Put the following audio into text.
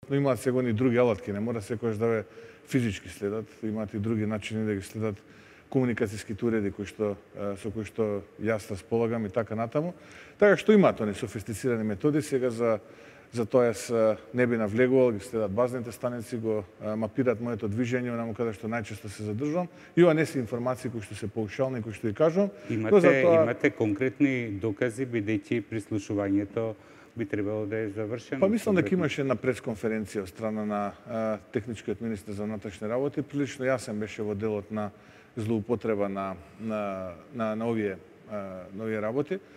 Но имаат сега и други алатки, не мора секогаш да ве физички следат, имаат и други начини да ги следат комуникацијските уреди со кои што јас располагам и така натаму. Така што имаат они софистицирани методи, сега за тоа јас не би навлегувал, ги следат базните станици, го мапираат моето движење, онаму каде што најчесто се задржувам. И ова не се информации кои што се паушални, кои што ги кажувам. Имате конкретни докази, бидејќи прислушувањето би требало да е завршено? Па мислам дека имаше една пресконференција од страна на техничкиот министер за внатрешни работи. Прилично јасен беше во делот на злоупотреба на овие работи.